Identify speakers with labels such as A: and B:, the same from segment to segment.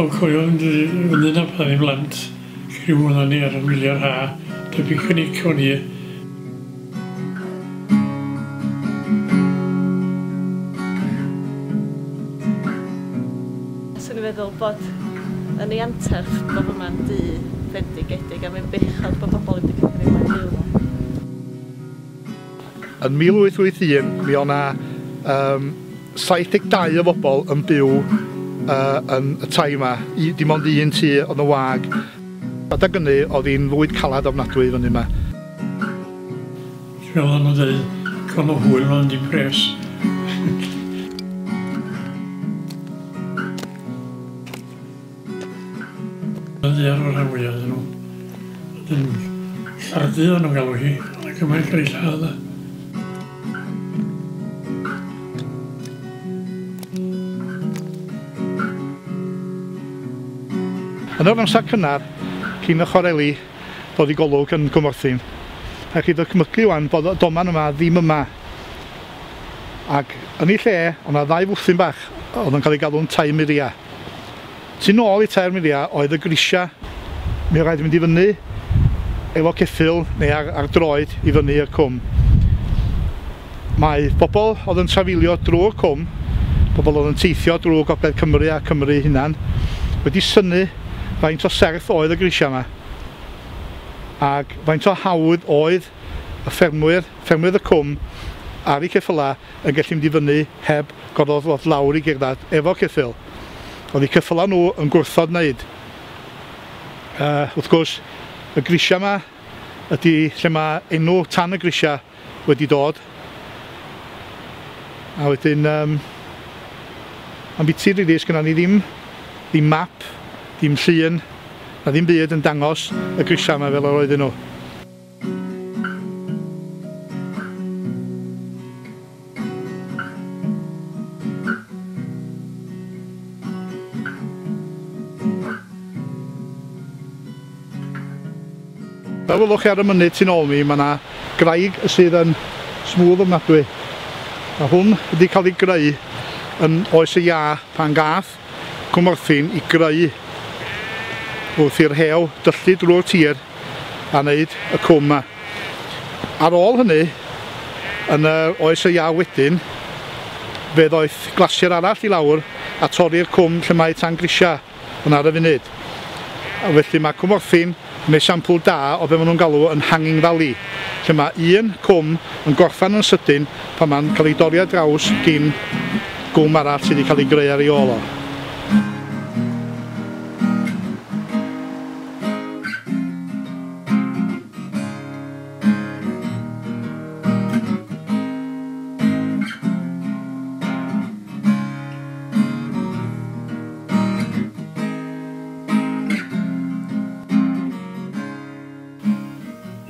A: O cofio fynd i fyny 'na pan o'n i'n blant, criw oeddan ni ar wyliau'r ha, dy picnic o'n i.
B: Swn i'n feddwl bod yn ei anterth bod yma'n dŷ fendigedig a mae'n bechod bod bobl ddim wedi cymryd mae'n byw yma.
C: Yn 1881 mi o' 'na yym 72 o bobl yn byw uh, yn y tai yma. I, dim ond un tŷ oedd yn wag. Adag hynny oedd hi'n fywyd calad ofnadwy fyny yma.
A: Fel o'n nhw'n dweud, cael o hwyl ond dim pres. Yn ddiar o'r rhan fwyaf ydyn nhw. Wedyn, llardu o'n nhw'n galw hi, ond y cymaint cael ei lladd.
C: Yn yr amser cynnar, cyn y chwareli dod i golwg yn Cwmorthin, rhaid chi ddychmygu wan bod y doman yma ddim yma. Ac yn ei lle, oedd 'na ddau fwthyn bach oedd yn cael eu galw'n tai muria. Tu nôl i tai'r muria oedd y grisia. Mi oedd rhaid mynd i fyny efo ceffyl neu ar, ar droed i fyny i'r cwm. Mae pobl oedd yn trafeilio drwy'r cwm, pobl oedd yn teithio drwy Gogledd Cymru a Cymru hunan, wedi synnu faint o serth oedd y grisiau yma ac faint o hawdd oedd y ffermwyr, ffermwyr y cwm ar eu ceffylau yn gallu mynd i fyny heb gorfod ddod lawr i gerdded efo ceffyl. Oedd eu ceffylau nhw yn gwrthod wneud. Uh, wrth gwrs, y grisiau yma ydy lle mae enw Tan y Grisiau wedi dod. A wedyn, um, am biti rili, sgynna ni ddim, ddim map, ddim llun, na ddim byd yn dangos y grisiau yma fel yr oedden nhw. Fel welwch chi ar y mynydd tu nôl mi, mae yna graig sydd yn smooth ofnadwy. A hwn wedi cael ei greu yn oes y iâ pan gath Cwmorthin i greu wrth i'r rhew dyllu drwy'r tir a wneud y cwm yma. Ar ôl hynny, yn yr oes y iâ wedyn, fe ddoeth glasier arall i lawr a torri'r cwm lle mae Tan Grisiau yn ar y funud. A felly mae Cwmorthin yn esiampl da o be maen nhw'n galw yn Hanging Valley, lle mae un cwm yn gorffen yn sydyn pan mae'n cael ei dorri ar draws gin gwm arall sydd wedi cael ei greu ar ei ôl o.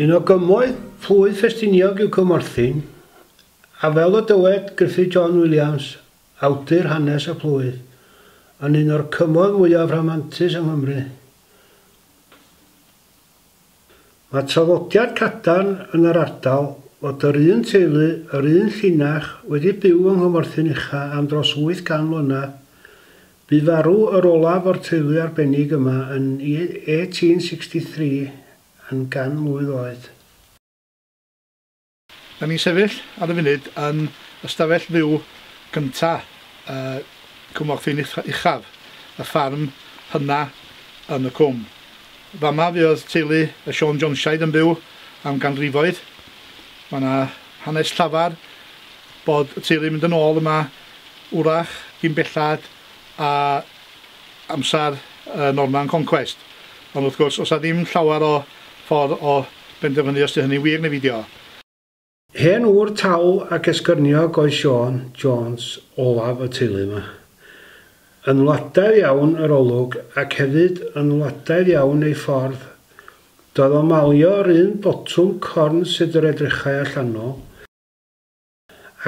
D: Un o gymoedd plwyf Ffestiniog yw Cwmorthin, a fel y dywed Gruffydd John Williams, awdur hanes y plwyf, yn un o'r cymoedd mwyaf rhamantus yng Nghymru. Mae traddodiad cadarn yn yr ardal fod yr un teulu, yr un llinach, wedi byw yng Nghymorthyn Ucha am dros 800 mlynedd. Bu farw yr olaf o'r teulu arbennig yma yn 1863 yn gan mlwydd oed.
C: Da ni'n sefyll ar y funud yn ystafell fyw gynta uh, Cwmorthin Uchaf, y ffarm hynna yn y cwm. Fama fuodd teulu y Siôn Jonesiaid yn byw am ganrifoedd. Mae yna hanes llafar bod y teulu yn mynd yn ôl yma wrach gyn bellad a amser Norman Conquest. Ond wrth gwrs, oes 'na ddim llawer o ffordd o benderfynu os 'di hynny'n wir neu beidio.
D: Hen ŵr tal ac esgyrniog oedd Siôn Jones olaf y teulu yma. Yn wladaidd iawn yr olwg ac hefyd yn wladaidd iawn ei ffordd. Doedd o malio yr un botwm corn sut yr edrychai allanol,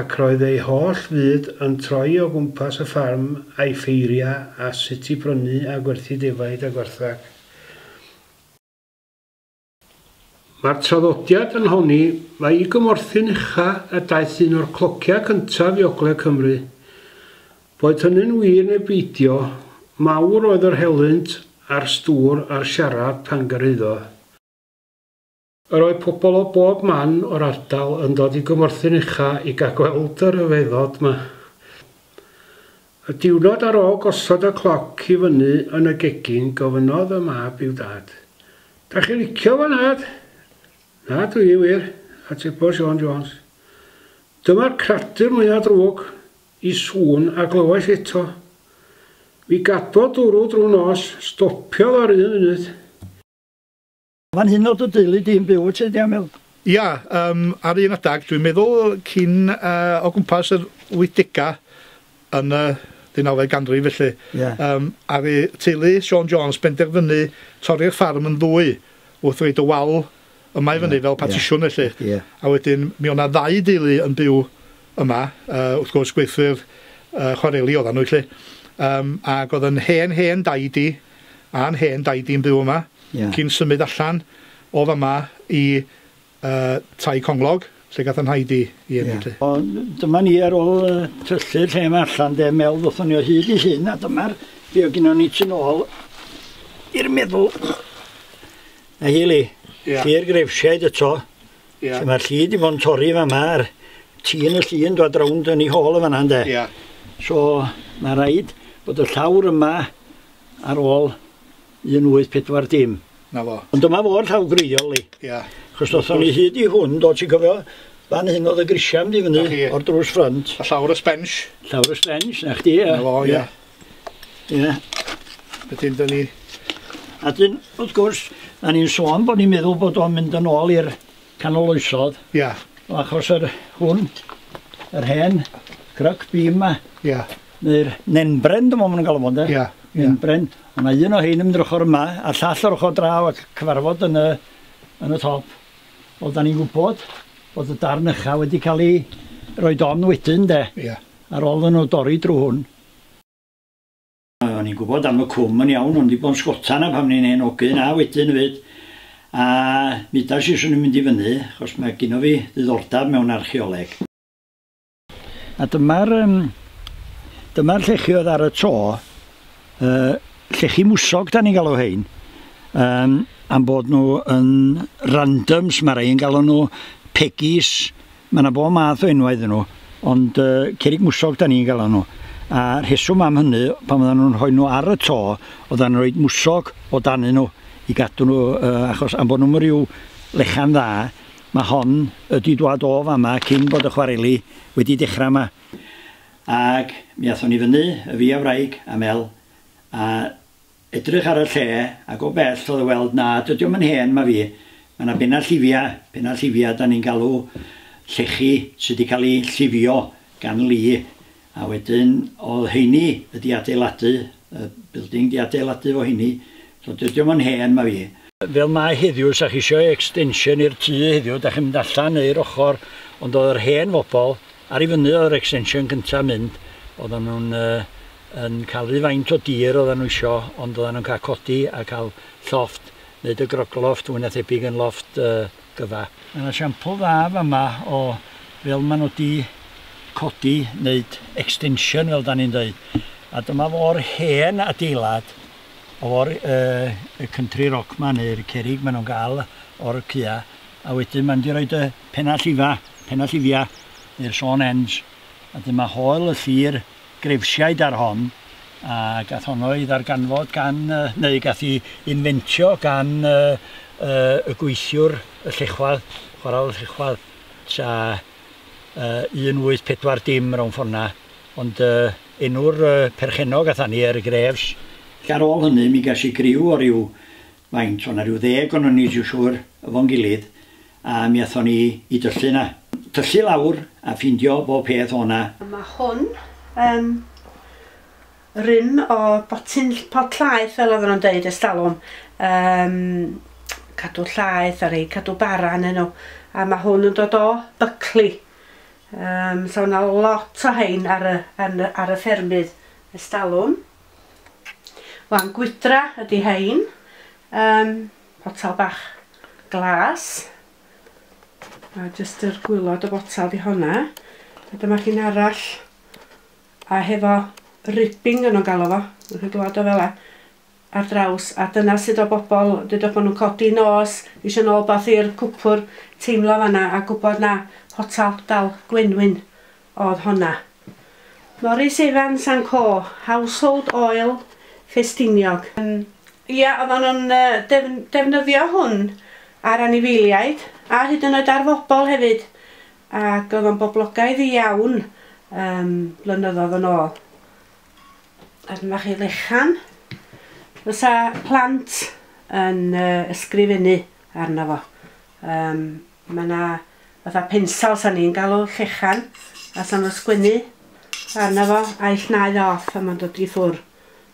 D: ac roedd ei holl fyd yn troi o gwmpas y ffarm a'i ffeiriau a sut i brynu a gwerthu defaid a gwartheg. Mae'r traddodiad yn honni mai i Gymorthyn Ucha y daeth un o'r clociau cyntaf i ogledd Cymru. Boed hynny'n wir neu beidio, Mawr oedd yr helynt a'r stŵr a'r siarad pan gyrhaeddodd. Yr oedd pobl o bob man o'r ardal yn dod i Gwmorthyn Ucha i gael gweld y rhyfeddod 'ma. Y diwrnod ar ôl gosod y cloc i fyny yn y gegin gofynnodd y mab i'w dad, 'Dach chi'n licio fo, nhad? Na, dwi wir, atebodd Siôn Jones. Dyma'r cradur mwya drwg i sŵn a glywais eto. Mi gadwodd dwrw drwy nos, stopiodd ar un funud.
E: Fan hyn o'dd dy deulu di'n byw wyt ti 'di Emil?
C: Ia, yym ar un adag, dwi'n meddwl cyn yy o gwmpas yr wythdegau yn y ddeunawfed ganrif felly.
E: Ia.
C: Yym aru teulu Siôn Jones benderfynu torri'r ffarm yn ddwy wrth roid y wal yma i fyny fel partisiwn felly.
E: Ia.
C: A wedyn mi o' 'na ddau deulu yn byw yma, yy wrth gwrs gweithwyr yy chwareli oddan nhw felly. Yym ag o'dd yn hen hen daid i a'n hen daid i'n byw yma.
E: Ia.
C: Cyn symud allan o fama i yy Tai Conglog lle gath 'y nhaid i 'i eni 'lly.
E: O, dyma ni ar ôl yy tyllu'r lle 'ma allan de, Mel ddothon ni o hyd i hyn a dyma'r be o' gynnon ni tu nôl i'r meddwl. Na hi li.
C: Ia.
E: Lle'r Grefsiaid eto.
C: Ia.
E: Lle mae'r lli 'di bod yn torri fama a'r tîn y lli yn dod rownd yn ei hôl yn fan'na ynde.
C: Ia.
E: So mae raid bod y llawr yma ar ôl 1840.
C: 'Na fo.
E: Ond dyma fo'r llaw gwreiddiol li.
C: Ia.
E: Achos ddothon ni hyd i hwn, do, ti'n cofio? Fan hyn oedd y grisiau mynd i fyny o'r drws ffrynt.
C: A llawr y sbensh.
E: Llawr y sbensh, 'na chdi, ia.
C: 'Na fo, ia.
E: Ia.
C: Wedyn 'dyn ni...
E: A dyn, wrth gwrs, da ni'n sôn bod ni'n meddwl bod o'n mynd yn ôl i'r canol oesodd.
C: Ia.
E: O achos yr hwn, yr hen cruck beam 'ma.
C: Ia.
E: Neu'r nenbren, dwi'n meddwl maen nhw'n galw fo, ynde?
C: Ia.
E: Nenbren. O' 'na un o hein yn mynd yr ochr yma, a'r llall o'r ochr draw ac cyfarfod yn y, yn y top. Wel, da ni'n gwybod bod y darn ycha wedi cael ei roid on wedyn, de.
C: Ia.
E: Ar ôl iddyn nhw dorri drwy hwn. O'n i'n gwybod am y cwm yn iawn, o'n i 'di bod yn sgota 'na pan o'n i'n hen ogyn a wedyn 'fyd. A mi udas i 'swn i'n mynd i fyny, achos mae gynno fi ddiddordeb mewn archeoleg. A dyma'r um, dyma'r llechi oedd ar y to, llechi mwsog da ni'n galw hein, am bod nhw yn randoms, mae rhai yn galw nhw pegis, mae yna bob math o enwau iddyn nhw, ond cerrig mwsog da ni'n galw nhw. A rheswm am hynny, pan oedden nhw'n rhoi nhw ar y to, oedden nhw'n rhoi mwsog o danyn nhw i gadw nhw, achos am bod nhw'n rhyw lechan dda, Mae hon ydi dwad o fama cyn bod y chwareli wedi dechra ma. Ag mi athon ni fyny, y fi a wraig a Mel, a edrych ar y lle, ag o bell oedd o weld na dydi o'm yn hen ma fi, ma na benna llifia, penna llifia da ni'n galw llechi sy di cael eu llifio gan li, a wedyn oedd heini ydi adeiladu, y building di adeiladu fo heini, so dydi o'm yn hen ma fi. Fel mae heddiw, 'sa chi isio extension i'r tŷ heddiw, da chi'n mynd allan neu'r ochr, ond oedd yr hen fobl, ar i fyny oedd yr extension cyntaf mynd, oedden nhw'n uh, yn cael rhy faint o dir oedden nhw isio, ond oedden nhw'n cael codi a cael llofft, wneud y groglofft, fwy na thebyg yn lofft uh, gyfa. Mae yna siampl dda fama o fel maen nhw wedi codi, wneud extension fel da ni'n dweud. A dyma fo'r hen adeilad o'r y country rock 'ma neu'r cerrig maen nhw'n gael o'r cua a wedyn maen nhw 'di roid y penna llifa, penna llifia neu'r sawn ends a wedyn mae hoel y llir grefsiaid ar hon a gath honno ei ddarganfod gan neu gath ei inventio gan y gweithiwr y llechwedd, chwarel y llechwedd tua 1840 rownd ffordd 'na. Ond enw'r perchennog atha ni er Graves. Ac ar ôl hynny mi ges i griw o ryw faint, o' 'na ryw ddeg onon ni dwi'n siŵr efo'n gilydd a mi athon ni i dyllu 'na. Tyllu lawr a ffindio bob peth o' 'na.
F: Mae hwn yn rym o botyn pot llaeth fel oedden nhw'n deud ers talwm. Yym cadw llaeth a rei cadw bara arnyn nhw. A mae hwn yn dod o Buckley. Yym so 'na lot o hein ar y yn ar y ffermydd ers talwm. Wan gwydra ydi hein. Yym potel bach glas. A jyst yr gwylod y botel di honna. A dyma chi'n arall a hefo Ribbing yn nhw'n galw fo, yn chi'n glwad o fel 'a, ar draws, a dyna sut o bobl, dydwch bod nhw'n codi nos, eisiau nôl bath i'r cwpwr, teimlo fanna a gwybod na potal dal gwenwyn oedd honna. Morris Evans and Co, Household Oil Ffestiniog. Ia, oedden nhw'n defnyddio hwn ar anifeiliaid a hyd yn oed ar fobl hefyd, ac oedd o'n boblogaidd iawn blynyddoedd yn ôl. A dyma chi lechan. Fysa plant yn ysgrifennu arno fo. Mae yna fatha pensel sa ni'n galw llechan, a sa nhw'n sgwennu arno fo a'i llnau off a mae'n dod i ffwr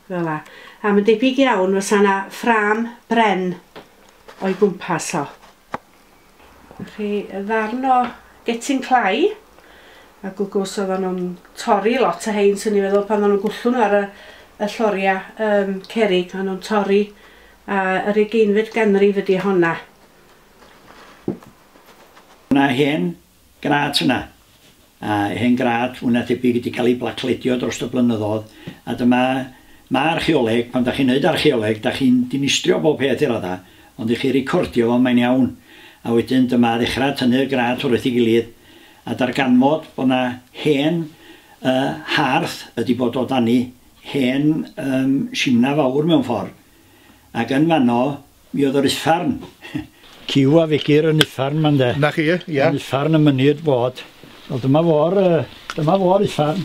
F: fel 'a. A mae'n debyg iawn fysa yna ffrâm bren o'i gwmpas o. Chi ddarn o getyn clai, a gwgws oedden nhw'n torri lot o hein, swn i'n meddwl, pan oedden nhw'n gwllwng nhw ar y lloriau cerrig, oedden nhw'n torri, a yr 20fed ganrif ydi honna.
E: Yna hen grât yna, a hen grât fwy na thebyg wedi cael ei blacledio dros y blynyddoedd, a dyma, mae archeoleg, pan da chi'n neud archeoleg, da chi'n dinistrio bob peth i radda, ond i chi recordio fo, mae'n iawn. A wedyn dyma ddechrau tynnu'r grât wrth ei gilydd, a darganfod bod na hen harth ydi bod o dani, hen simna fawr mewn ffordd. Ac yn fanno, mi oedd yr uffarn. Cyw a fegir yn uffarn ma'n de.
C: Na chi, ia.
E: Yn uffarn y mynydd bod. Wel, dyma fo'r uffarn.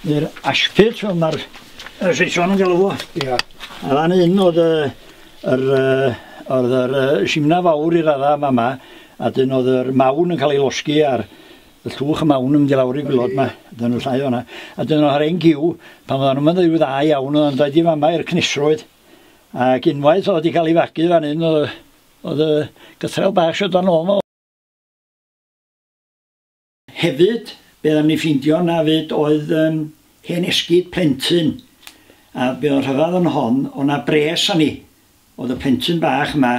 E: Neu'r ashpit, fel mae'r Saeson yn galw fo.
C: Ia.
E: A fan hyn oedd yr simna fawr i radda yma, a dyn oedd yr mawn yn cael ei losgi ar y llwch y mawn yn mynd i lawr i gwilod yma, dyn nhw llai o'na. A dyn nhw ar ein giw, pan oedden nhw'n mynd dda iawn, oedd yn dod i fama i'r cnesrwydd. Ac unwaith oedd wedi cael ei fagu fan hyn, oedd y gythrel bach sydd dan ôl yma. Hefyd, be oedden ni ffeindio na fyd oedd hen esgid plentyn. A be oedd rhyfedd yn hon, oedd na bres ani. Oedd y plentyn bach yma,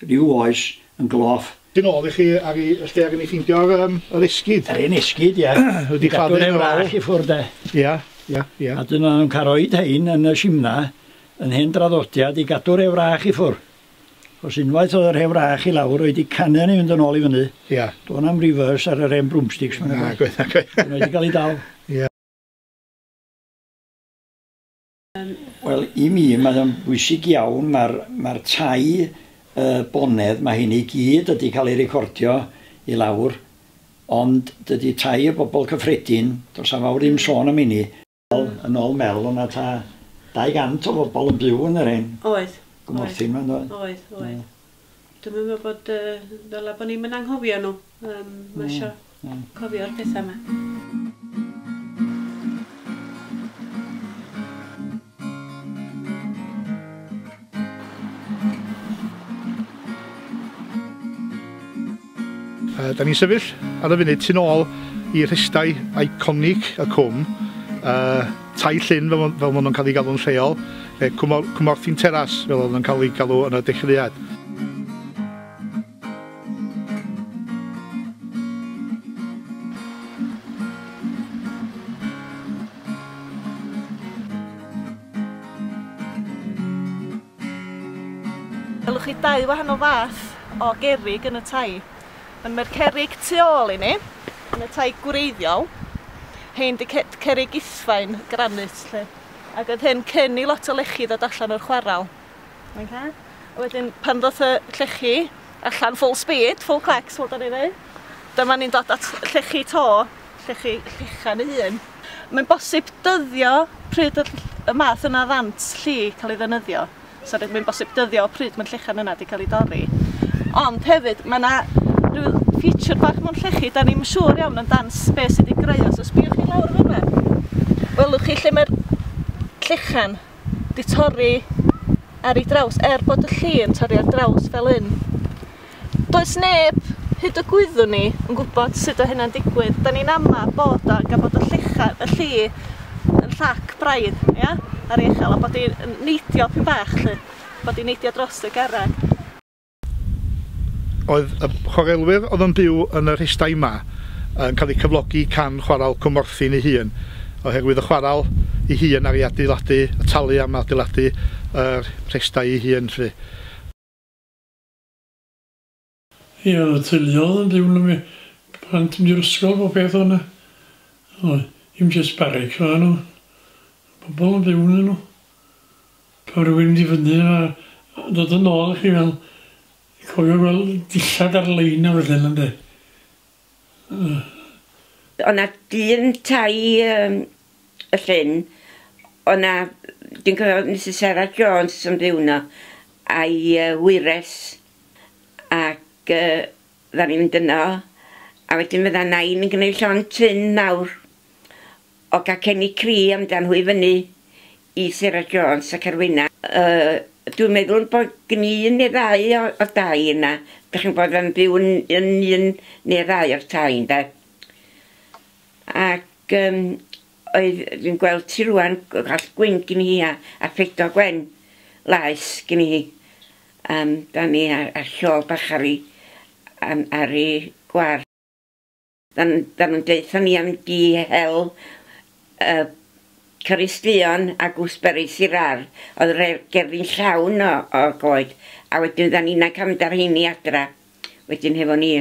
E: rhyw oes, yn gloff.
C: Dyn ôl i chi ar i lle ar i ni ffeindio'r yr esgid.
E: Yr un esgid, ia.
C: Wedi chladdu
E: yn ôl. I ffwrdd, de.
C: Ia, ia, ia.
E: A dyn nhw'n cael roed hein yn y simna, yn hen draddodiad i gadw'r ewrach i ffwrdd. Os unwaith oedd yr ewrach i lawr, oedd wedi canu ni fynd yn ôl i fyny.
C: Ia.
E: Do'n am reverse ar yr hen broomsticks.
C: Na, gwaith, na, gwaith.
E: Dyn nhw wedi cael ei dal.
C: Ia.
E: Wel, i mi, mae'n bwysig iawn, mae'r tai bonedd, mae hyn i gyd wedi cael ei recordio i lawr, ond dydy tai y bobl cyffredin, does am fawr ddim sôn am hynny. Yn ôl Mel, o'na ta 200 o bobl yn byw yn yr hen.
F: Oedd.
E: Gwmorthyn ma'n dod.
F: Oedd, oedd. Dwi'n meddwl bod, ddyla bod ni'n mynd anghofio nhw. Mae eisiau cofio'r pethau yma.
C: Da ni'n sefyll ar y funud tu nôl i rhestau eiconig y cwm, tai Llyn fel maen nhw'n cael ei galw'n lleol, Cwmorthin Teras fel oedd nhw'n cael ei galw yn y dechreuad.
B: Welwch chi dau wahanol fath o gerrig yn y tai. Ond mae'r cerrig tu ôl i ni, yn y tai gwreiddiol, hein di cerrig ithfaen granit, lle. Ac oedd hyn cyn i lot o lechi ddod allan o'r chwarel. Okay. A wedyn pan ddoth y llechi allan full speed, full clecs, fel da ni'n dweud, dyma ni'n dod at llechi to, llechi llechan ei hun. Mae'n bosib dyddio pryd y math yna ddant lli cael ei ddefnyddio. So mae'n bosib dyddio pryd mae'n llechan yna wedi cael ei dorri. Ond hefyd, mae yna rhyw feature bach mewn llechi, da ni'n siŵr iawn yn dan beth sydd wedi greu o. So sbïwch chi lawr fyna. Welwch chi lle mae'r llechan di torri ar ei draws, er bod y lli yn torri ar draws fel un. Does neb, hyd y gwyddwn ni, yn gwybod sut o hynna'n digwydd. Da ni'n ama bod o, gan bod y llechan, y lli yn llac braidd, ia, ar ei uchel, a bod hi'n neidio pyn bach, lle, bod hi'n neidio dros y garreg.
C: Oedd y chwarelwyr oedd yn byw yn y rhestau yma yn cael eu cyflogi can chwarel Cwmorthin ei hun. oherwydd y chwaral ei hun ar ei adeiladu, y talu am adeiladu yr rhestai ei hun lly.
A: Ie, oedd y teuluoedd yn byw yno, plant mynd i'r ysgol, bob peth o'na. Oedd, ddim jyst barracks oedden nhw. Pobl yn byw yn nhw. Pan rhywun mynd i fyny a dod yn ôl chi fel, cofio gweld dillad ar lein a felly ynddo.
G: O'na dyn tai y llyn, o'na, dwi'n cofio Mrs Sarah Jones yn byw yno, a'i wyres, ac dda ni'n mynd yno, a wedyn fydda nain yn gwneud llond tun mawr o gacenni cri amdan hwy fyny i Sarah Jones ac Arwena. Dwi'n meddwl bod gen i un neu ddau o dai yna. Dych chi'n bod yn byw yn un neu ddau o'r tai, ynde. Ac oedd, dwi'n gweld ti rwan, gall gwyn gen i hi a ffedo gwen laes gen i hi. Da ni a siôl bach ar ei gwar. Da nhw'n deutha ni am di hel Caristian a gooseberries i'r ardd. Oedd yr gerddi'n llawn o goed. A wedyn da ni'n cael mynd ar heini adra. Wedyn hefo ni.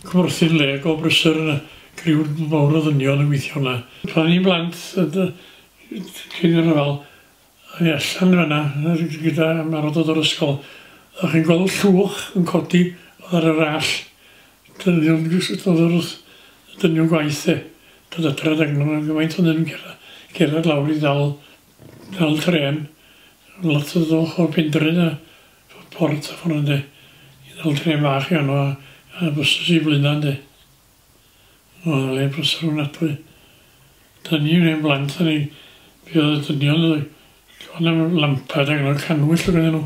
A: Cwmorthin le go brysur yna. Criw mawr o ddynion yn gweithio yna. Pan ni'n blant, cyn i'r rhyfel, o'n i allan fan'na gyda marw dod o'r ysgol. O'ch chi'n gweld llwch yn codi oedd ar yr all. Dynion dod o'r dynion gwaith e. Dod adra ag nhw'n gymaint o'n nhw'n cerdded lawr i ddal tren. Lot o ddwch o'r Penrhyn a Port a ffordd ynddo. I ddal tren bach i anno a bysys i Blaenau ynddo. Oedd le brysur ofnadwy. Da ni'n ein blant, da ni buodd y dynion o'n am lampad ac o'n canwyll o gyda nhw.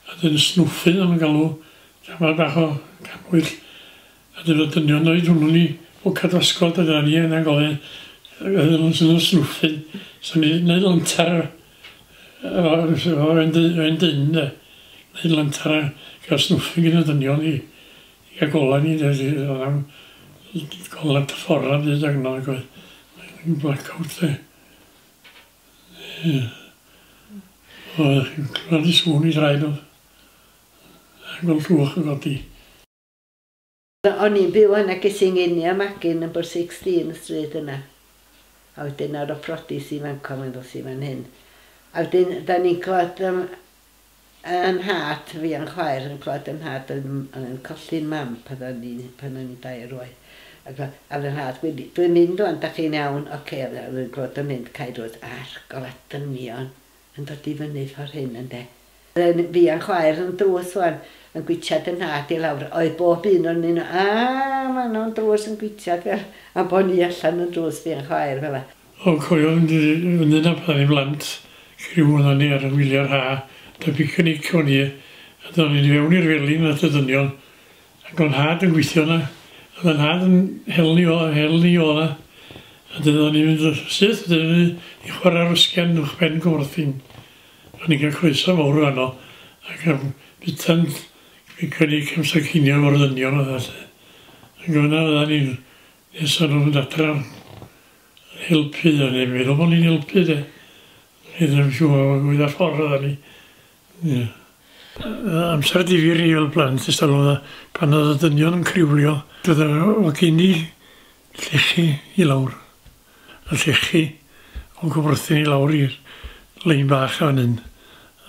A: A dyn snwffyn o'n galw, tamad bach o canwyll. A dyn y dynion oed hwnnw ni o cadwasgod a dyna ni yna'n gofyn. Oedden nhw'n sy'n snwffyn. So ni'n neud lantar efo ein dyn, de. Neud lantar a gael snwffyn gyda dynion i gael golau ni. Oedd am golau ffordd am byd ac yno. Blackout, de. Ie. Oedd chi'n clywed i sŵn i draed nhw. A gweld llwch yn godi.
F: O'n i'n byw yna, ges i'n ngeni a magu number 16 y stryd yna. A wedyn ar y prodis i fan co, mae'n ddos i fan hyn. A wedyn, da ni'n clywed yn nhad, fi a'n chwaer yn clywed yn nhad yn colli'n mam pan o'n i'n 2 oed. Ac a fy nhad, dwi'n mynd ŵan, da chi'n iawn, oce, okay, dwi'n clywed yn mynd, cae drws, a'r gola dynion yn dod i fyny ffordd hyn, ynde. Fi a'n chwaer yn drws ŵan, yn gwitiad yn nhad i lawr. Oedd bob un o'n nhw, a, ma nhw'n drws yn gwitiad fel, a bo ni allan yn drws fi a'n chwaer fel.
A: O, cofio fynd fyny na pan i'n blant, criw oedden ni ar y wyliau'r ha, da picnic o'n i, a do'n i'n fewn i'r felin at y dynion, ac o'n nhad yn gweithio yna, a o'n nhad yn hel ni o yna, a dyna o'n i'n mynd syth, dyna ni i chwarae'r ysgen uwchben Cwmorthin. O'n i'n cael croeso mawr fanno, ac am bita'n picnic amser cinio efo'r ddynion oedd felly. Ac fyna fyddan ni'n nes o'n nhw'n mynd adra helpu, o'n i'n meddwl bod ni'n helpu de. Ni ddim yn siŵr o gwydd ar ffordd oedden ni. Ie. Amser difyr i fel plant ers talwm pan oedd y dynion yn criwlio, doedd o gen i llechi i lawr. Y llechi o'n Cwmorthin i lawr i'r lein bach fan hyn.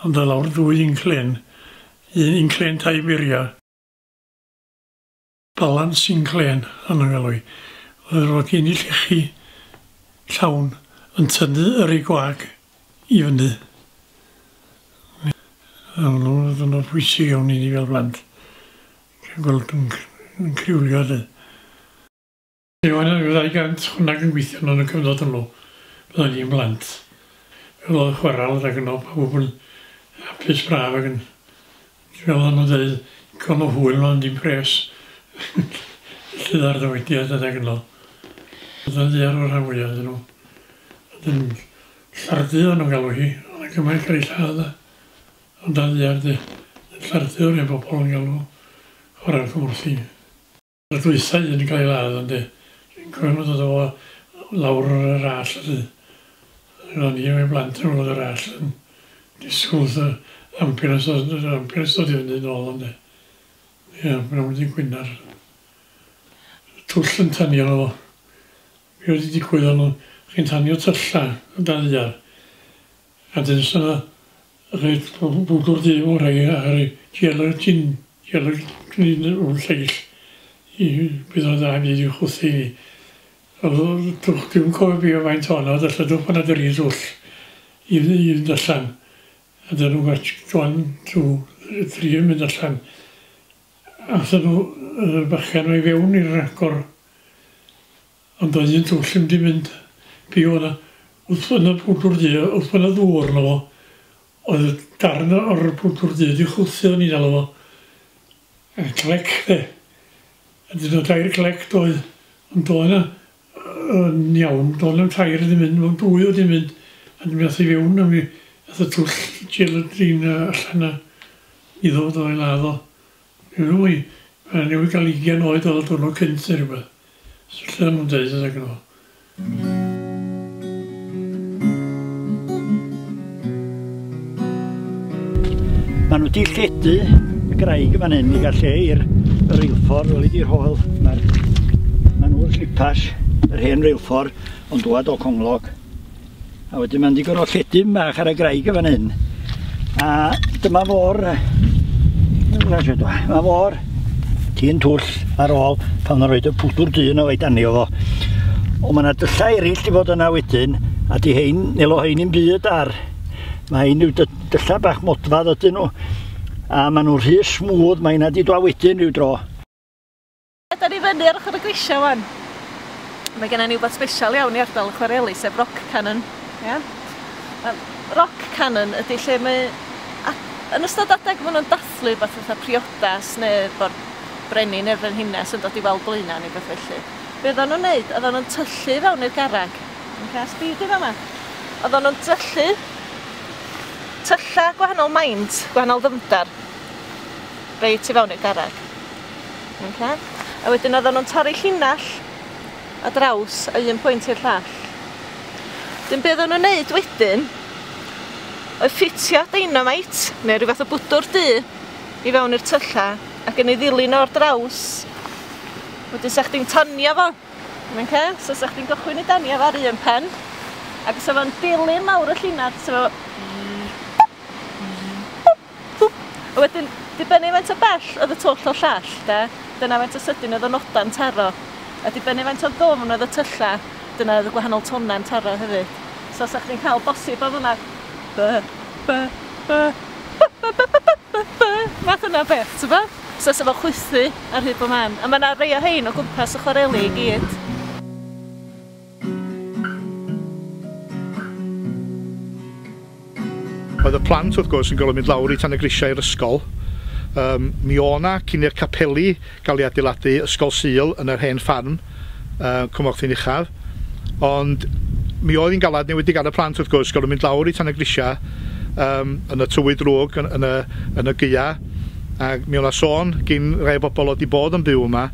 A: Ond o lawr 2 inclên, un inclên tai muria. Balans inclên o'n nhw'n galw i. Oedd o gen i llechi llawn yn tynnu yr ei gwag i fyny. O'n nhw'n bwysig iawn i ni fel blant. Cael gweld yn criwlio de. Oedd yna 200 hwnna yn gweithio yn y cyfnod hwnnw, byddwn ni'n blant. Fel oedd chwaral ac yno, pawb yn hapus braf ac yn, fel o'n nhw'n dweud, con o hwyl ond dim pres. Llydd ar ddywediad ac yno. Oedd yn ddiar o'r rhan fwyaf ydyn nhw. Oedd yn llardu o'n nhw'n galw hi, oedd yn gymaint cael ei lladd. Ond dan ddiar di, llardu o'r un bobl yn galw chwarae'r Cwmorthin. Y dwytha un yn cael ei ladd, ynddi. Dwi'n cofio nhw'n dod o lawr yr all, ynddi. O'n i efo'i blant yn ôl yr all yn disgwyl wrth y ambulance, yr ambulance dod i fyny nôl, ynddi. Ie, mae'n mynd i Gwynar. Twll yn tanio nhw. Be wedi digwydd o'n nhw, chi'n tanio tylla yn dan ddaear. A dyn sy'n rhaid bwdwr du mewn rhai a rhai gelatin, gelatin o'r lleill i bydd o'n dda byd i'w chwthu ni. Oedd twll, dwi'n cofio be o faint ono, oedd allan twll pan oedd yr un twll i fynd allan. A dyn nhw'n gwach 1, 2, 3 yn mynd allan. Athyn nhw y bachan i fewn i'r agor. Ond oedd un twll yn mynd be o'na. Wrth yna bwdwr du, wrth yna ddŵr yna fo, oedd y darn o'r bwdwr du wedi chwthu o'n i'n alw fo. A clec de. A dyn nhw tair clec doedd. Ond doedd yna yn iawn, doedd yna tair wedi mynd, mewn dwy wedi mynd. A dyn nhw i fewn a mi ath y twll gelatin allan a iddo fo i ladd o. Dwi'n meddwl i, mae'n newid gael 20 oed oedd o diwrnod cynt neu rhywbeth. So lle nhw'n dweud ydych nhw.
E: Maen nhw wedi lledu y graig fan hyn i gael lle i'r reilffordd, wel i'r hoel. Mae'r ma nhw'r slipas, yr hen reilffordd, ond dwad o Conglog. A wedyn maen nhw wedi gorfod lledu bach ar y graig fan hyn. A dyma fo'r, mae fo'r tîn twll ar ôl pan nhw'n rhoi y pwdwr du yna o'i danio fo. Ond mae yna dyllau eraill wedi bod yna wedyn, a di hein, nelo hein i'n byd ar. Mae hein yw dyllau bach modfad ydyn nhw, a maen nhw'n rhy smooth, mae hynna wedi dwa wedyn rhyw dro.
B: Da ni fyny ar ochr y grisiau wan. Mae gennym ni wbeth special iawn i ardal y chwareli, sef Rock Cannon. Yeah? Rock Cannon ydy lle mae... Yn ystod adeg maen nhw'n dathlu beth fatha priodas neu bo'r brenin neu'r frenhines yn dod i weld blaenau neu beth felly. Be oedden nhw'n neud, oedden nhw'n tyllu fewn i'r garreg. Okay, sbio di fama. Oedden nhw'n tyllu tylla gwahanol maint, gwahanol ddyfndar, reit i fewn i'r garreg. Okay. A wedyn oedden nhw'n torri llinell a draws a un pwynt i'r llall. Dyn be oedden nhw'n neud wedyn, oedd ffitio dynamite, neu rhyw fath o bwdwr du, i fewn i'r tylla, ac yn ei ddilyn o'r draws. Wedyn sa chdi'n tanio fo. Okay? So sa chdi'n gychwyn i danio fo ar un pen, ac sa fo'n dilyn lawr y llinell, sa fo... A wedyn, dibynnu faint o bell oedd y twll o'r llall, de, dyna faint o sydyn oedd y noda'n taro. A dibynnu faint o ddwfn oedd y tylla, dyna oedd y gwahanol tonau'n taro hefyd. So sa chdi'n cael bosib o fyna, b, b, b, b, b, b, b, b, b, math yna beth, ti'n bo? So sa fo chwythu ar hyd bob man. A mae yna rei o hein o gwmpas y chwareli i gyd.
C: Oedd y plant wrth gwrs yn gorfod mynd lawr i tan y grisiau i'r ysgol. Mi o'na cyn i'r capeli gael ei adeiladu ysgol Sul yn yr hen ffarm, Cwmorthin Uchaf. Ond mi oedd hi'n galad newid ar y plant wrth gwrs, gorfod mynd lawr i tan y grisiau yn y tywydd drwg, yn y gaea. Ac mi o'na sôn gyn rai bobl oedd wedi bod yn byw yma,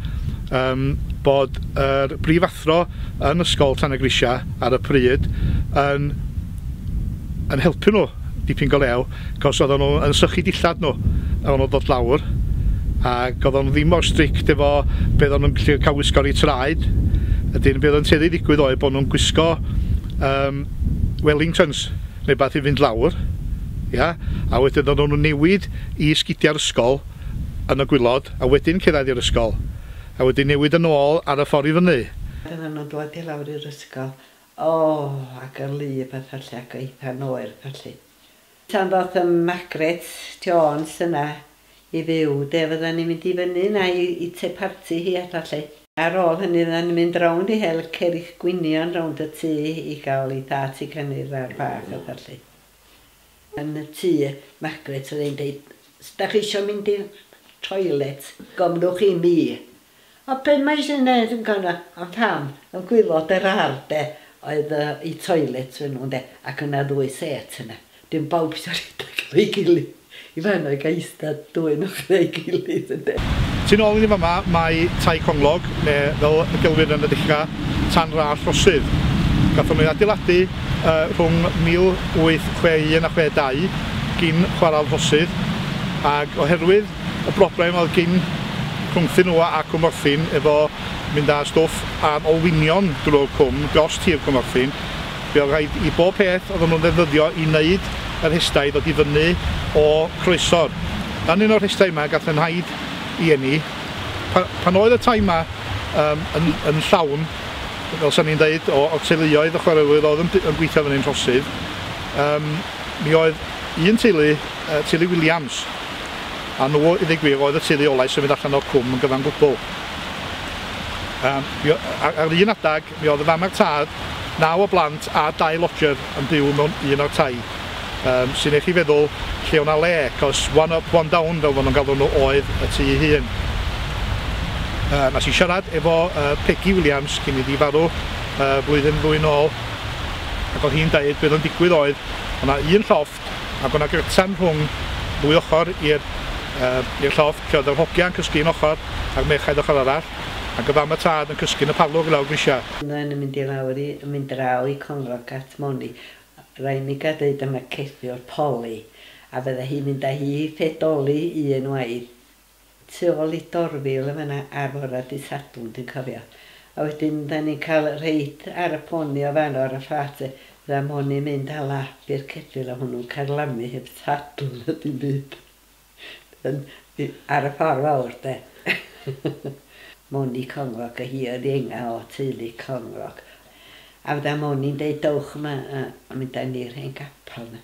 C: bod yr brifathro yn ysgol tan y grisiau ar y pryd yn helpu nhw dipyn go lew, cos oedden nhw yn sychu dillad nhw, a oedden nhw'n dod lawr, ac oedden nhw ddim mor strict efo be oedden nhw'n gallu cael wisgo ar eu traed. Ydyn, be oedd yn tueddu i ddigwydd oedd bod nhw'n gwisgo Wellingtons, neu beth i fynd lawr, ia? A wedyn oedden nhw'n newid i sgidiau'r ysgol yn y gwylod, a wedyn cyrraedd i'r ysgol, a wedyn newid yn ôl ar y ffordd i fyny.
H: Oedden nhw'n dod i lawr i'r ysgol, o, ac yr lib a felly, ac eitha oer felly. Tan ddoth y Margaret Jones yna i fyw, de, fyddan ni'n mynd i fyny yna i te parti hi a felly. Ar ôl hynny fyddan ni'n mynd rownd i hel cerrig gwynion rownd y tŷ i gael ei dat i cynnydd ar bach a felly. Yn y tŷ, Margaret oedd hi'n dweud, da chi eisiau mynd i'r toilet, gomrwch i mi. O, be mae eisiau gwneud yn gona? Ond pam, yn gwylod yr ardd, de, oedd i toilet fy nhw'n de, ac yna ddwy set yna. Dim bawb eisiau rhedeg efo'i gilydd. I fan o'i gael eistedd dwy yn ochr ei gilydd, ynde.
C: Tu nôl i ni fama mae Tai Conglog, neu fel y gelwir yn y dechrau, Tan Ras Rhosydd. Gathon nhw ei adeiladu rhwng 1861 a 62 gin chwarel Rhosydd, ac oherwydd y broblem oedd gin rhwngthyn nhw a Cwmorthin efo mynd â stwff am olwynion drwy'r cwm dros tir Cwmorthin, fe oedd rhaid i bob peth oedden nhw'n ddefnyddio i wneud yr rhestau ddod i fyny o Croesor. Yn un o'r rhestau yma gath fy nhaid i eni. Pan oedd y tai yma yn, yn llawn, fel sa'n ni'n dweud, o'r teuluoedd y chwarelwyr oedd yn, yn gweithio fyny'n Rhosydd, mi oedd un teulu, teulu Williams, a nhw, i ddweud gwir, oedd y teulu olau symud allan o'r cwm yn gyfan gwbl. Ar, ar un adag, mi oedd y fam a'r tad, 9 o blant a 2 lodger yn byw mewn un o'r tai. Sy'n eich chi feddwl lle o'na le, cos one up, one down, fel maen nhw'n galw nhw, oedd y tŷ ei hun. Nes i siarad efo Peggy Williams cyn iddi farw blwyddyn ddwy nôl, ac oedd hi'n deud beth oedd yn digwydd oedd, o'na un llofft ac o'na gyrtan rhwng ddwy ochr i'r i'r llofft lle oedd yr hogiau'n cysgu un ochr a'r merchaid ochr arall, ac y fam a tad yn cysgu yn y parlwr i lawr grisiau.
H: Yna yn mynd i lawr i, yn mynd draw i Conglog at Moni. Rhaid mi gael dweud am y ceffyl Poli, a fydde hi'n mynd â hi i ffedoli un waith tu ôl i Dorfil yn fan'na ar fora dydd Sadwrn dwi'n cofio. A wedyn da ni'n cael reit ar y poni o fanno ar y fflat e, fydda Moni'n mynd â lap i'r ceffyl a hwnnw'n carlamu heb sadl na dim byd. Yn, ar y ffordd fawr de. Moni Conglog a hi oedd ienga o teulu Conglog. A fydda Moni'n deud dowch yma a, a mynd â ni'r hen gapel 'na.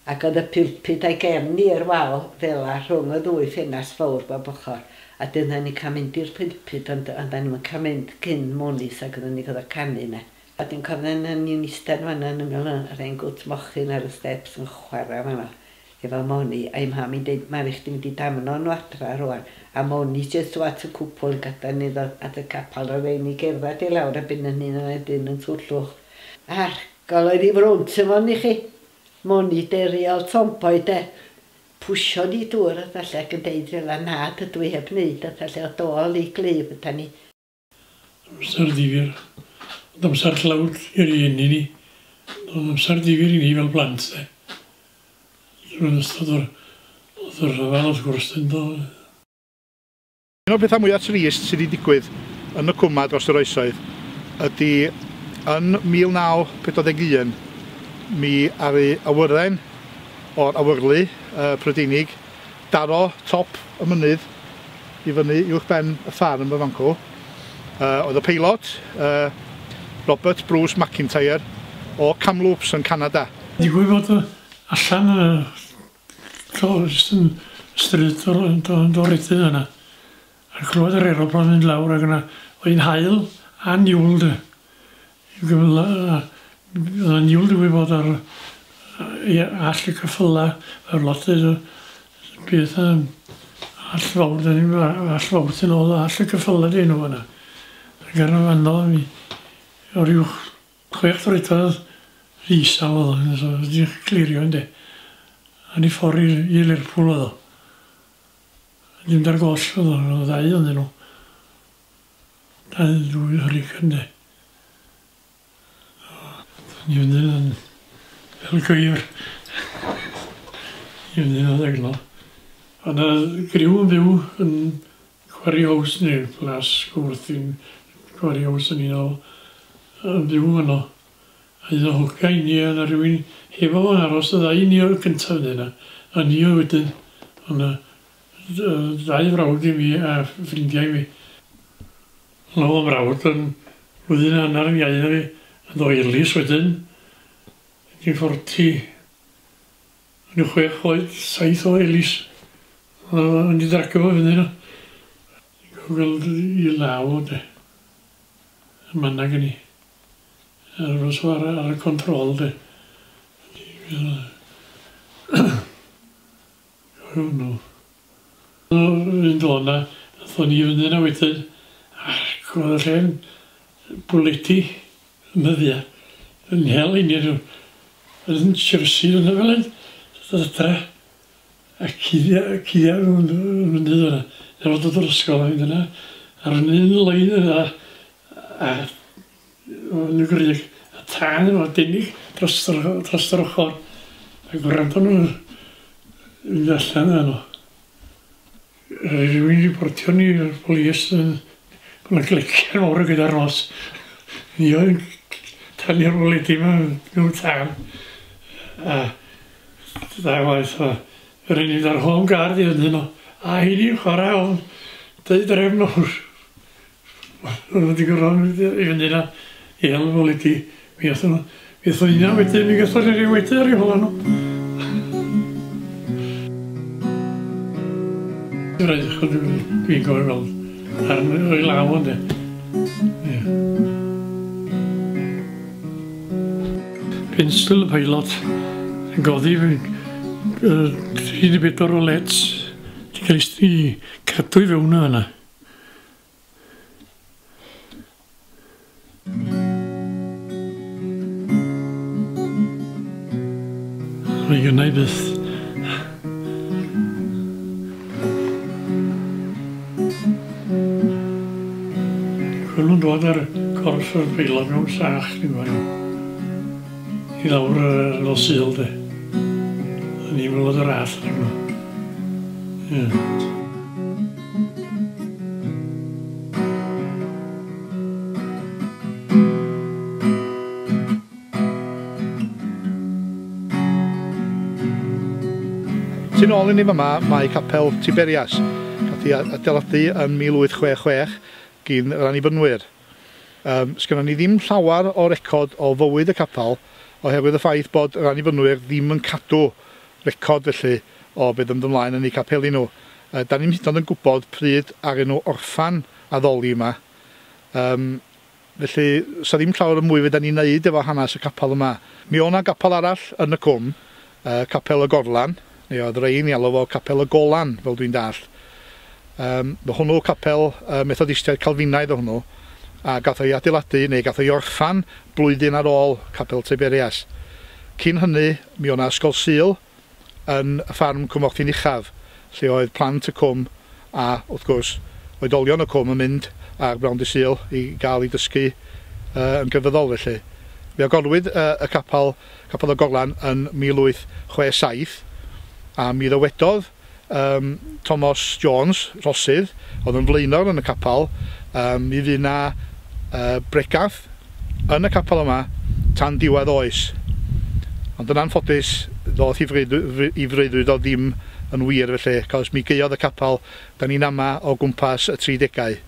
H: Ac oedd y pulpud a'i gefn i'r wal fela rhwng y ddwy ffenast fawr bob ochr. A dyna ni'n cael mynd i'r pulpud ond ond da ni'm yn cael mynd cyn Moni's ac oedden ni'n gorfod canu 'na. A dwi'n cofio yn ni'n eistedd fan'na yn ymyl yr hen gwt mochyn ar y steps yn chwarae fan'na efo Moni a'i mham i'n deud Mari chdi mynd i damno nhw adra rwan a Moni jyst at y cwpwl yn gadael ni ddod at y capal a rhaid ni gerdded i lawr a byn yn hun yn dyn yn twllwch. Argol oedd i frwnt efo ni chi. Moni deriol tomboy de. Pwsio ni dŵr a falle ac yn deud fel na dydw i heb wneud a falle o dôl i glyb yda ni.
A: Amser difyr. Ond amser tlawd i'r rieni ni. Ond amser difyr i ni fel plant de. Drwy'n ystod o'r oedd y rhyfel wrth gwrs yn do.
C: Un o'r pethau mwyaf trist sydd wedi digwydd yn y cwm 'ma dros yr oesoedd ydy yn 1941 mi aru awyren o'r awyrlu Prydeinig daro top y mynydd i fyny uwch ben y ffarm yn fancw. Oedd y peilot, Robert Bruce McIntyre o Kamloops yn Canada.
A: Digwydd bod allan yn y jyst yn stryd o'r Doredydd yna. A clywed yr aeroplan mynd lawr ac yna, oedd hi'n haul a niwl de. Oedd yna niwl digwydd bod ar all y ceffyla, yr lot o beth all fawr, all fawr sy'n ôl, all y ceffyla di enw yna. Ac ar y fanno, mi, o ryw 6 troedfedd isal oedd o, so wedi clirio ynddi. A ni ffordd i Lerpwl oedd o. Ddim dar goll oedd o, oedd ddau ohonyn nhw. Dau ddwy hurricane de. Ni fynd yn fel gwyr. Ni fynd yn adeg. Oedd yna griw yn byw yn Quarry House neu Plas Cwmorthin, Quarry House yn un o yn byw yno. A un o hogia i ni, yna rhywun hefo fo'n aros, y ddau ni o'r cyntaf yna. A ni o wedyn, oedd yna ddau frawd i mi a ffrindiau i mi. Oedd o'n mrawd yn flwyddyn hanner yn iau na fi, yn ddo Elis wedyn, 1940, yn 6 oed, 7 o Elis. Oedd o'n i dragio fo fyny yna. Gweld i law de. Y manna gen i. Aros ar y control de. Hwnnw. Un do yna, nathon ni fyny yna wedyn, ac oedd y lle'n bwledi yn nyddia. Yn hel i ni, yn Chelsea yna fel hyn, adra. A cuddia nhw'n mynydd yna. Efo dod o'r ysgol a mynd yna, ar un lein yna, a yn y grug, a tân efo denig dros yr ochr, a gwrando nhw'n mynd allan yna nhw. Rhywun reportio ni i'r polis yn bod yna glecian mawr yn gyda'r nos. Ni oedd yn tanu'r bwledi yma mewn tân. A da waith o. Yr un ar home guard i fyny nhw. A hynny'n chwarae o'n deud drefn mawr. O'n wedi gorfod mynd i fyny yna i hel y bwledi. Mi athon nhw. Mi athon nhw wedyn, mi gathon ni wedyn ar ei hola nhw. Rhaid dwi'n gofio weld ar o'i law ynddo. Ie. Pencil y pilot yn godi 34 o leds di cael ei cadw i fewn yna. Mae gynna i byth. Gwelwn dod ar corff yr peilot mewn sach, dwi'n gwybod. I lawr ar nos Sul, de. A ni'n gweld yr all yn nhw. Ie.
C: Tu nôl i ni fyma mae Capel Tiberias. Gath ei adeiladu yn 1866 gyn yr Annibynwyr. Sgynnon ni ddim llawer o record o fywyd y capel oherwydd y ffaith bod yr Annibynwyr ddim yn cadw record felly o beth yn ymlaen yn eu capeli nhw. Da ni'm hyd yn oed yn gwybod pryd aru nhw orffan addoli yma. Felly, sa ddim llawer o mwy fedra ni wneud efo hanes y capel yma. Mi oedd 'na gapel arall yn y cwm, Capel y Gorlan, neu oedd rhein i alw fo Capel y Golan, fel dwi'n dallt. Hwnnw capel Methodistiaid Calfinaidd o hwnnw, a gath o'i adeiladu, neu gath o'i orffan blwyddyn ar ôl Capel Tiberias. Cyn hynny, mi oedd 'na ysgol Sul yn y ffarm Cwmorthin Uchaf, lle oedd plant y cwm a, wrth gwrs, oedolion y cwm yn mynd ar Brown Dydd Sul i gael ei dysgu yn grefyddol felly. Fe agorwyd y capel, Capel y Gorlan, yn 1867, a mi ddywedodd Thomas Jones, Rhosydd, oedd yn flaenor yn y capel, mi fydd 'na bregath yn y capel yma tan diwedd oes. Ond yn anffodus, ddoth i freuddwyd o ddim yn wir felly, cos mi gaeodd y capel, da ni'n ama o gwmpas y 30au,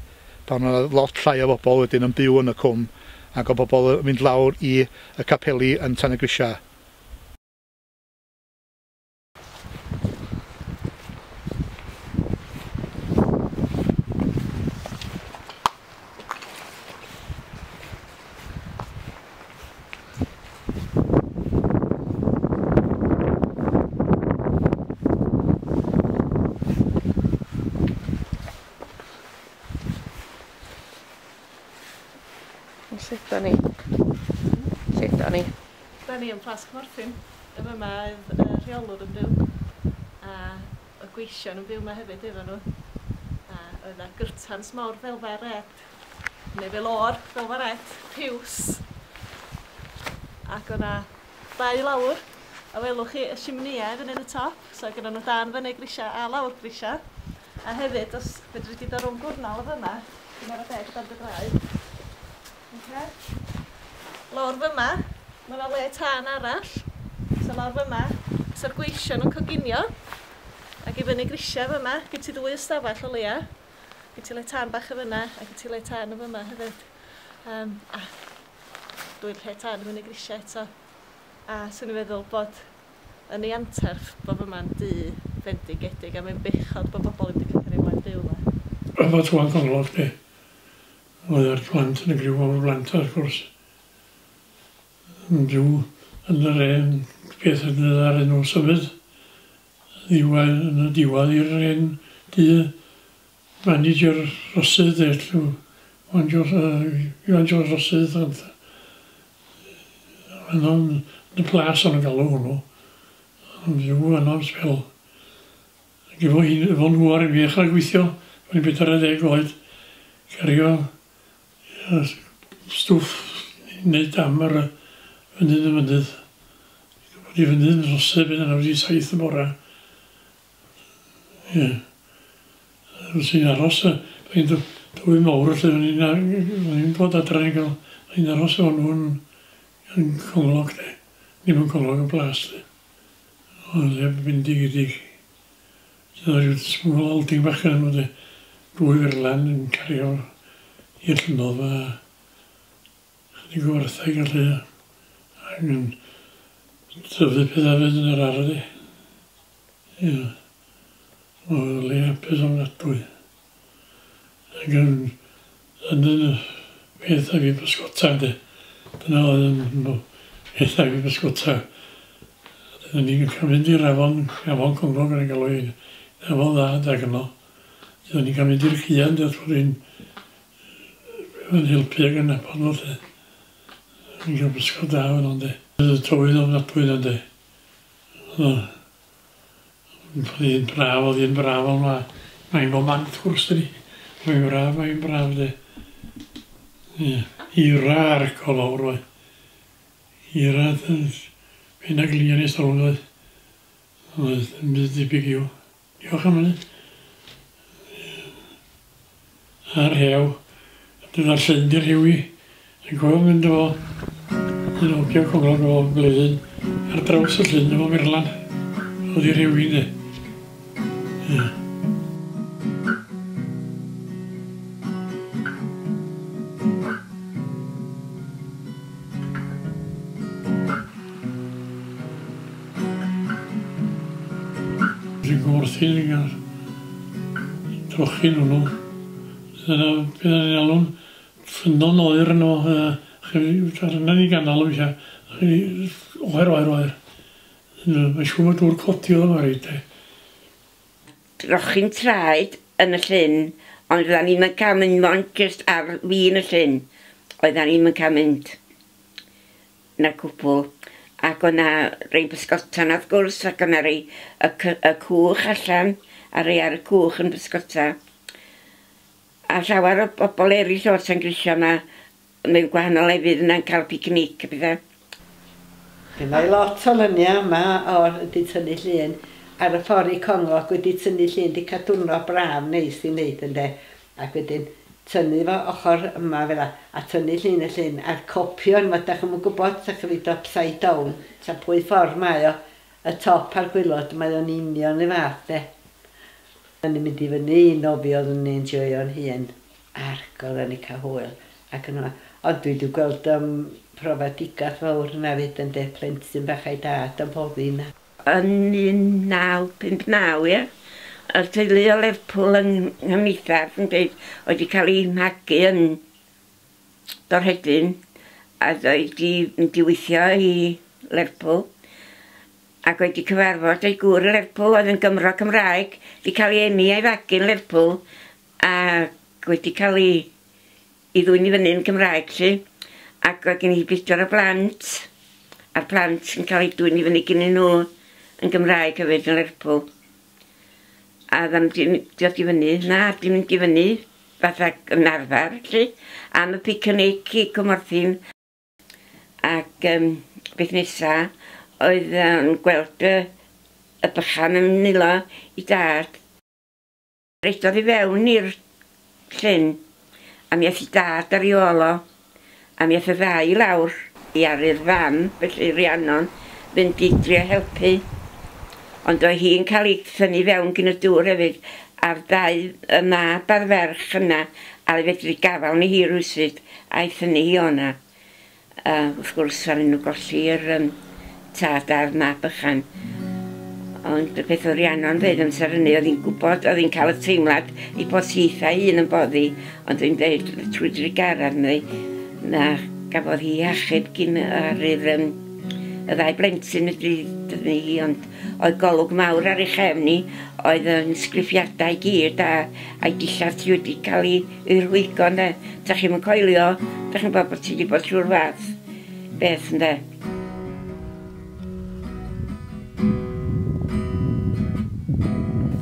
C: pan oedd lot llai o bobl wedyn yn byw yn y cwm, ac o bobl yn mynd lawr i y capeli yn Tanygrisiau.
B: Lle da ni? Lle da ni? Da ni yn Plas Cwmorthin. Yma mae y rheolwr yn byw. A y gweision yn byw yma hefyd efo nhw. A oedd 'na gyrtans mawr felfa red. Neu fel o'r felfa red, piws. Ac oedd 'na dau lawr. A welwch chi y simneiau fyny yn y top. So gyda nhw dan fyny grisiau a lawr grisiau. A hefyd, os fedri di dod rownd gwrnal o fyma, dwi'n ar y deg dan dy draed. Okay. Lawr fyma, mae yna le tân arall. So lawr fyma, so'r gweision yn coginio. Ac i fyny grisiau fyma, gen ti ddwy ystafell o leia. Gen ti le tân bach y fyna, a gen ti le tân y fyma hefyd. A dwy lle tân i fyny grisiau eto. A swn i'n feddwl bod yn ei anterth bod fyma'n dŷ fendigedig, a mae'n bechod bod bobl ddim wedi cael ymlaen byw yma.
A: Efo Twan Conglog, de. Oedd yr plant yn y griw o'r blant, wrth gwrs, yn byw yn yr hen beth yn ar enw symud, yn y diwedd i'r hen dŷ manager Rhosydd, de, Iwan Jones Rhosydd, ond yn y plas o'n galw hwnnw, yn byw yno am sbel. Ac efo nhw ar y mi ddechrau gweithio, O'n i'n 40 oed, cario stwff i wneud dam ar y fynydd y mynydd. Bod i fynydd yn rhoseb yn 97 y bora. Ie. Os i'n aros, fi'n dwy mawr lle, o'n i'n dod adra i'n cael, o'n i'n aros efo nhw yn Conglog, de. Ddim yn Conglog, yn Plas, de. O'n le bendigedig. Dyna rhyw small holding bach yn nhw, de. Dwy ferlan yn cario i'r llynnodd a chydig o wartheg a lle. Ac yn tyfu pethau fyd yn yr ardd, de. Ie. Oedd le hapus ofnadwy. Ac yn yn peth a fi bysgota, de. Dyna oedd yn peth a fi bysgota. Dyna ni'n cael mynd i'r afon, afon Conglog yn ei galw hi, afon dda dag yno. Dyna ni'n cael mynd i'r cian, de, wrth i'n helpu ag yn nabod nhw, lle. Ni'n cael bysgod da fan hwn, de. Oedd y tywydd ofnadwy yna, de. Oedd hi'n braf, oedd hi'n braf, ond mae'n bob man, wrth gwrs, dydi. Mae'n braf, mae'n braf, de. Ie. Eira arco lawr, oedd. Eira, pen a glin i stolwng, oedd. Oedd, yn byd debyg i'w. Diolch am hynny. A'r hew. Dyna'r llyn di'r rhewi. Dwi'n cofio mynd efo un ogio Conglog o Bleddyn ar draws y llyn efo Merlan. Oedd i'r rhewi, de. Ie. Dwi'n gwrthyn yn cael trochi'n hwnnw. Dyna beth ni'n alw'n ffynnon oer yno, arna ni ganol weithiau. Oer, oer, oer. Mae'n siŵr bod dŵr codi oedd yma reit, de.
G: Trochi'n traed yn y llyn, ond oeddan ni'm yn cael mynd mond jyst ar fin y llyn. Oeddan ni'm yn cael mynd na cwbl. Ac o'na rei bysgota na wrth gwrs, ac o'na rei y cwch allan, a rei ar y cwch yn bysgota. A llawer o bobl eraill o'r Llangrisio yma mewn gwahanol lefydd yna'n cael picnic a pethau.
H: Mae lot o luniau yma o'r wedi tynnu llun ar y ffordd i Conglog wedi tynnu llun, wedi cael diwrnod braf neis i wneud ynde. Ac wedyn tynnu fo ochr yma fel 'a, a tynnu llun y llun a'r copio yma, dach chi'm yn gwybod, dach chi'n mynd upside down, ta pwy ffordd mae o, y top a'r gwaelod, mae o'n union y fath de. O'n i'n mynd i fyny i nofio, oeddwn i'n enjoio'n hun, ac oedden ni'n cael hwyl. Ac yn yma. Ond dwi wedi gweld profedigaeth fawr yna fyd yn de, plentyn bach a'i dad yn boddi yna.
G: Yn 1959, ie, y teulu o Lerpwl yng Nghymdeithas yn dweud oedd wedi cael ei magu yn Dorhedyn a oedd wedi mynd i weithio i Lerpwl ac wedi cyfarfod ei gŵr yn Lerpwl oedd yn Gymro Cymraeg, wedi cael ei eni a'i fagu yn Lerpwl ac wedi cael ei ddwyn i fyny yn Gymraeg, lly. Ac oedd gen i bedwar o blant, a'r plant yn cael eu dwyn i fyny gennyn nhw yn Gymraeg hefyd yn Lerpwl. A dda'n dod i fyny, na, di mynd i fyny, fatha yn arfer, lly, am y picnic i Cwmorthin. Ac beth nesa oedd yn gweld y bychan yn nilo i dad. Redodd i fewn i'r llyn, a mi aeth i dad ar ei ôl o, a mi aeth y ddau i lawr i aru'r fam, felly Rhiannon, fynd i drio helpu. Ond oedd hi'n cael ei thynnu fewn gyn y dŵr hefyd, a'r ddau, y mab a'r ferch yna, a fedru gafael ni hi rywsut, a'i thynnu hi o'na. Wrth gwrs, ar nhw golli'r tad a'r mab bychan. Ond y peth oedd Rhiannon dweud amser hynny, oedd hi'n gwybod, oedd hi'n cael y teimlad i bod hi hun yn boddi, ond dwi'n dweud trwy drugaredd neu na gafodd hi achub gyn ar y ddau blentyn medru dynnu hi, ond oedd golwg mawr ar ei chefn hi, oedd yn sgriffiadau i gyd a'i dillad hi wedi cael ei rhwygo ynde. Dach chi'm yn coelio, dach chi'n gwybod bod ti wedi bod trwy'r fath beth ynde.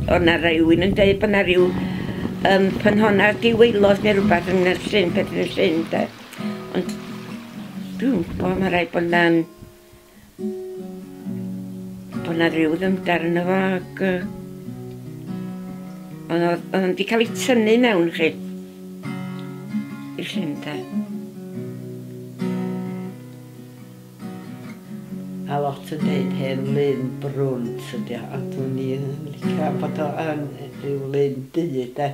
G: Oedd na rhywun yn dweud bod na rhyw ffynhonna diwaelod neu rhywbeth yn y llyn, peth yn y llyn, de. Ond dwi'n gwybod, mae rhaid bod na'n bod na rhyw ddyfnder yno fo ac yy ond oedd oedd o'n 'di cael ei tynnu mewn chi i'r llyn de.
H: A lot yn deud hen lyn brwnt ydi o, ond dwn i yn licio am bod o yn rhyw lyn du de.